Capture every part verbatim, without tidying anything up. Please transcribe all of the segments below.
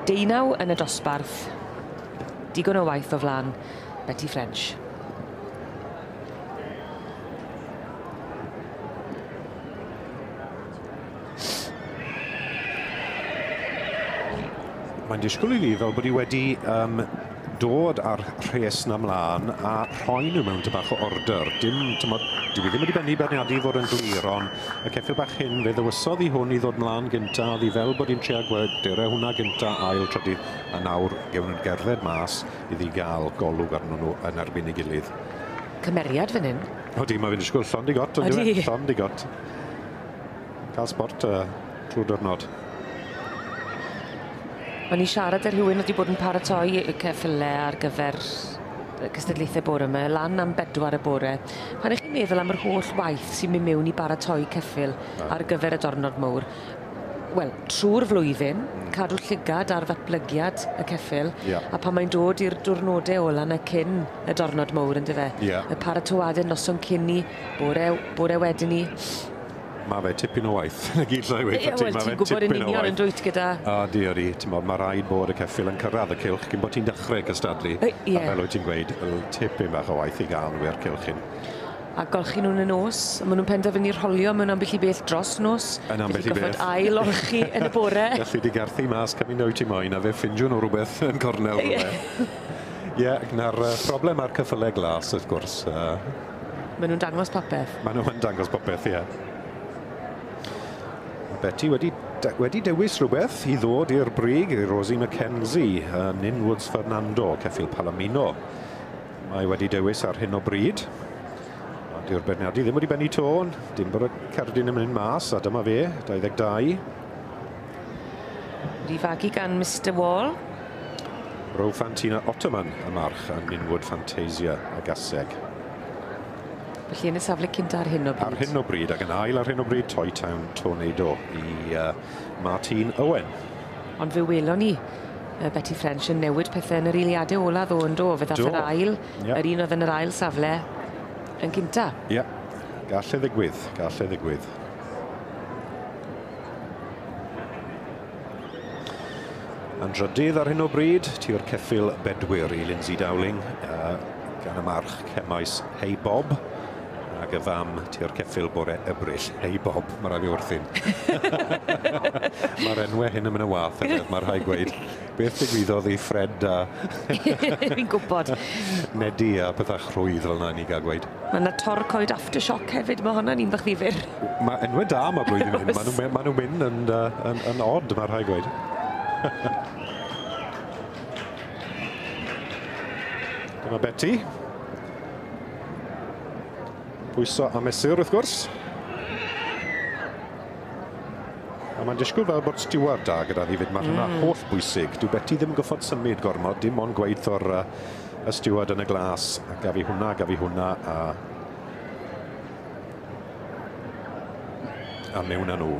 Deunaw yn y dosbarth. Digon o waith o flan Betty French. Mae'n disgwyl i fi fel bod hi wedi um, dod â'r rhes na mlaen a rhoi nhw mewn tŷ bach o order. Dim, tymod, dwi ddim wedi bennu beirniadu fod yn glir, ond y ceffyl bach hyn fe ddewisodd i hwn i ddod mlaen gynta, oedd hi fel bod hi'n trio gweld dere hwnna gynta, ail, trydydd, a nawr gewn nhw'n gerdded mas iddi gael golwg arnyn nhw yn erbyn ei gilydd. Cymeriad fan hyn. Odi, mae fe'n disgwyl llond i got, on'd yw e? Llond i got. Cael sport uh, trwy'r diwrnod. O'n i siarad â rhywun wedi bod yn paratoi y ceffylau ar gyfer cystadlaethau bore yma, lan am bedwar y bore. Pan ych chi'n meddwl am yr holl waith sy'n mynd mewn i baratoi ceffyl ar gyfer y diwrnod mawr, wel, trwy'r flwyddyn, cadw llygad ar ddatblygiad y ceffyl, yeah. a pan mae'n dod i'r diwrnodau ola na cyn y diwrnod mawr, yndyfe? Yeah. Y paratoadau noson cyn ni, bore, bore wedyn ni. Mae fe tipyn o waith. Na gyd llai weud Ie, wel, ti'n gwybod yn union yn dwyt gyda... A di, odi, ti'n bod, mae rhaid bod y ceffyl yn cyrraedd y cylch cyn bod ti'n dechrau cystadlu. Ie. A fel wyt ti'n gweud, tipyn bach o waith i gael nhw i'r cylch hyn. A golchi nhw'n y nos, a maen nhw'n penderfynu rholio mewn ambell i beth dros nos. Yn ambell i beth. Felly gorfod ail olchi yn y bore. Gallu di garthu mas cymaint wyt ti moyn, a fe ffindio nhw rhywbeth yn cornel rhywbeth. Ie, na'r problem ar ceffylau glas, wrth gwrs. Maen nhw'n dangos popeth. Maen nhw'n dangos popeth, ie. Betty wedi, de, wedi dewis rhywbeth i ddod i'r brig i Rosie McKenzie, uh, Ninwoods Fernando, ceffyl Palomino. Mae wedi dewis ar hyn o bryd. Ond dyw'r beirniadu ddim wedi bennu tôn, dim bod y cerdyn yn mynd mas, a dyma fe, dau ddeg dau. Wedi fagu gan Mister Wall. Rofantina Ottoman, y march, a Ninwood Fantasia, y gaseg. Felly yn y safle cynta ar hyn o bryd. Ar hyn o bryd, ac yn ail ar hyn o bryd, Toy Town Tornado i uh, Martin Owen. Ond fe welon ni uh, Betty French yn newid pethau yn yr eiliadau ola ddo yn do. Fe ddath yr ail, yep. yr un oedd yn yr ail safle yn cynta. Ie, yeah. Gall e ddigwydd, gall e ddigwydd. Yn drydydd ar hyn o bryd, tu'r ceffyl bedwyr i Lindsay Dowling, uh, gan y march Cemais Hey Bob. Ac y fam tu'r ceffyl bore Ebrill. Hey Bob, mae rhaid fi wrthyn. Mae'r enwau hyn yn mynd yn wath, hefyd, mae rhaid gweud. Beth digwyddodd i Fred a... Fi'n gwybod. Nedi a pethau chrwydd fel yna ni gael gweud. Mae yna torcoed aftershock hefyd, mae hwnna'n un bach ddifyr. Mae enwau da yma blwyddyn hyn, maen nhw'n ma nhw mynd yn, yn, yn odd, mae rhaid gweud. Dyma Betty. Pwyso a mesur, wrth gwrs. A mae'n disgwyl fel bod stiward da gyda ddi fyd. Mae hynna mm. holl bwysig. Dyw Betty ddim yn goffod symud gormod, dim ond gweud o'r uh, y stiward yn y glas. A gaf i hwnna, gaf i hwnna, a... a mewn â nhw.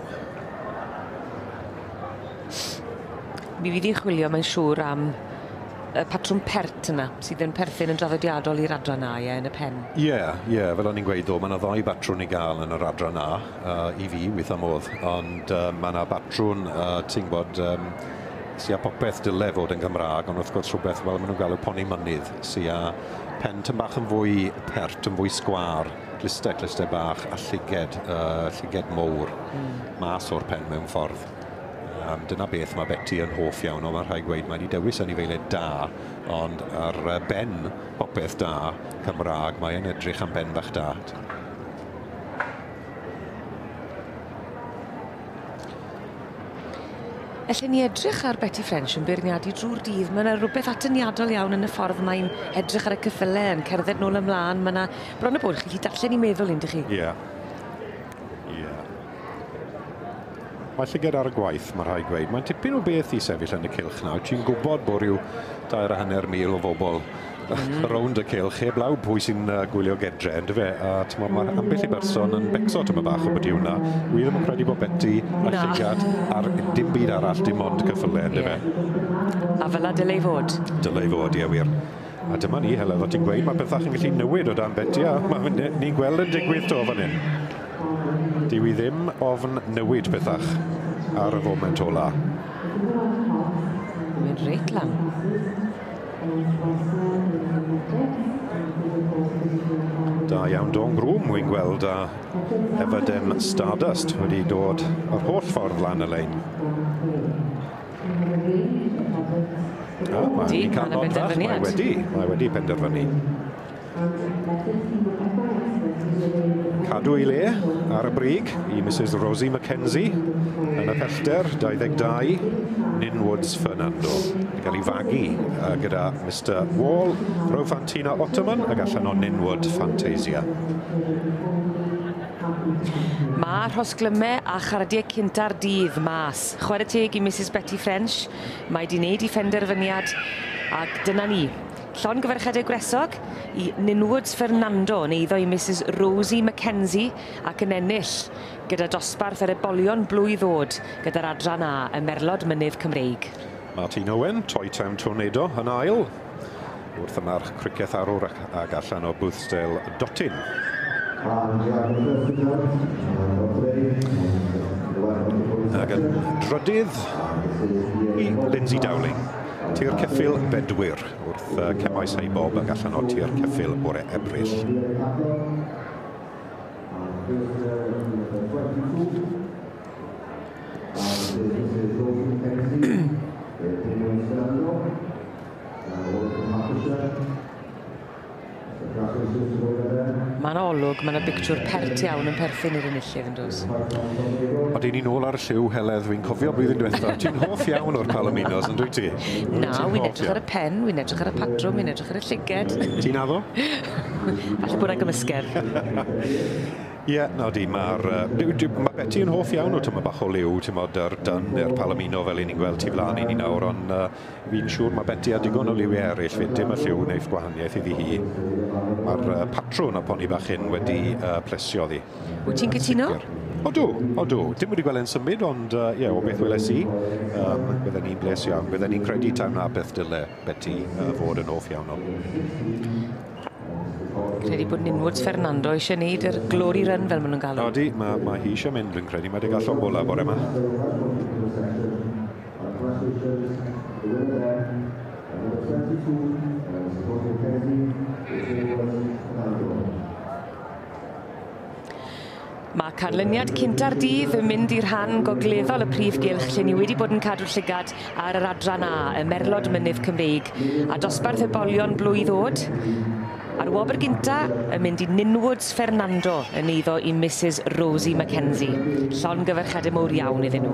Mi fydd hi'n chwilio, mae'n siŵr, am y patrwm pert yna, sydd yn perthyn yn draddodiadol i'r adran A, ie, yn y pen. Ie, yeah, ie, yeah, fel o'n i'n gweud ddo, mae yna ddau batrwn i gael yn yr adran A, uh, i fi, weithio modd, ond uh, mae yna batrwn, uh, ti'n gwybod, um, sy â popeth dyle fod yn Gymraeg, ond wrth gwrs rhywbeth fel maen nhw'n galw poni mynydd, sy â pen tyn bach yn fwy pert, yn fwy sgwâr, glistau, glistau bach, a llyged, uh, llyged mowr, mm. mas o'r pen mewn ffordd. Um, dyna beth mae Betty yn hoff iawn o, mae rhaid gweud, mae wedi dewis anifeiliaid da, ond ar ben popeth da Cymraeg, mae'n edrych am ben bach da. Allen ni edrych ar Betty French yn beirniadu drwy'r dydd. Mae yna rhywbeth atyniadol iawn yn y ffordd mae'n edrych ar y ceffylau, yn cerdded nôl ymlaen. Mae yna bron y bod chi gallu darllen i meddwl, yndych chi? Ie. Yeah. Ie. Yeah. Mae llygad ar y gwaith, mae rhaid gweud. Mae'n tipyn o beth i sefyll yn y cylch nawr. Ti'n gwybod bod rhyw dair a hanner mil o bobl mm. rownd y cylch, heblaw pwy sy'n uh, gwylio gedre, yndyfe? A t'mod, mae ambell i berson yn becso tyma bach o beth yw hwnna. Wi ddim yn credu bod Betty a llygad ar dim byd arall, dim ond ceffylau, yndyfe? Yeah. A fel 'na dyle i fod. Dyle i fod, ie wir. A dyma ni, Heledd, o ti'n gweud, mae pethau yn gallu newid o dan Betty, a ma, ni'n gweld yn digwydd to fan hyn. Dyw i ddim ofn newid pethach ar y foment ola. Mae'n reit lan. Da iawn Dawn Groom, wy'n gweld a Everdem Stardust wedi dod yr holl ffordd lan y lein. O, mae Di, wedi cael ma' 'na nod fach, mae benderfyniad. wedi, mae wedi penderfynu. Cadw ei le ar y brig i Missus Rosie Mackenzie yn y pellter, dau ddeg dau, Ninwoods Fernando. Yn cael ei fagu uh, gyda Mister Wall, Rofantina Ottoman ac allan o Ninwood Fantasia. Mae rhosglymau a chardiau cynta'r dydd mas. Chwarae teg i Missus Betty French. Mae di wneud ei phenderfyniad ac dyna ni. Llongyfarchiadau gwresog i Ninwoods Fernando yn eiddo i Missus Rosie Mackenzie ac yn ennill gyda dosbarth yr ebolion blwydd ddod gyda'r adran A, y Merlod Mynydd Cymreig. Martin Owen, Toy Town Tornado yn ail, wrth y march Criceth Arwr ac, ac allan o Boothsdale Dotyn. Ac yn drydydd i Lindsay Dowling. Tir Ceffyl Bedwyr wrth uh, Cemaes Heibob ac allan o Tir Ceffyl bore Ebrill. Mae'n olwg, mae'n bictiwr pert iawn yn perthyn i'r enillydd yn does. Oedden ni'n ôl ar y lliw, Heledd, fi'n cofio blwyddyn diwethaf. Ti'n hoff iawn o'r Palominos, yn dwyt ti? Na, wy'n edrych ar y pen, wy'n edrych ar y patrwm, wy'n edrych ar y llyged. Ti'n addo? Falle bod 'na gymysgedd. Ie, yeah, na di, mae'r... Uh, mae Betty yn hoff iawn o tyma bach o liw, ti'n modd, yr dyn neu'r Palomino fel i ni'n gweld tu flaen i ni nawr, ond uh, fi'n siŵr mae Betty a digon o liwiau eraill fyd, dim y lliw wneud gwahaniaeth iddi hi. Mae'r uh, patrwn o poni bach hyn wedi uh, plesio ddi. Wyt ti'n cytuno? Odw, odw. Dim wedi gweld e'n symud, ond uh, ie, o beth weles i, um, bydden ni'n bles iawn. Bydden ni'n credu taw na beth dyle Betty uh, fod yn hoff iawn o. Credu bod Ninwoods Fernando eisiau gwneud yr glory run fel maen nhw'n galw. Odi, mae, mae hi eisiau mynd, dwi'n credu. Mae wedi gael llond bola bore yma. Mae canlyniad cynta'r dydd yn mynd i'r rhan gogleddol y prif gylch lle ni wedi bod yn cadw llygad ar yr adran A, y Merlod Mynydd Cymreig, a dosbarth ebolion blwydd ddod. A'r wobr gynta yn mynd i Ninwoods Fernando yn eiddo i Missus Rosie Mackenzie. Llongyfarchiadau mowr iawn iddyn nhw.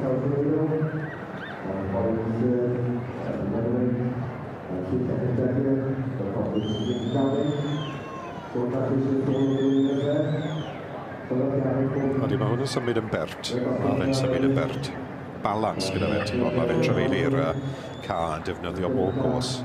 Odi, mae hwn yn symud yn bert. Mae fe'n symud yn bert. Balans gyda fe, ti'n gwybod, mae fe'n trafeilu'r uh, ca yn defnyddio bob gos.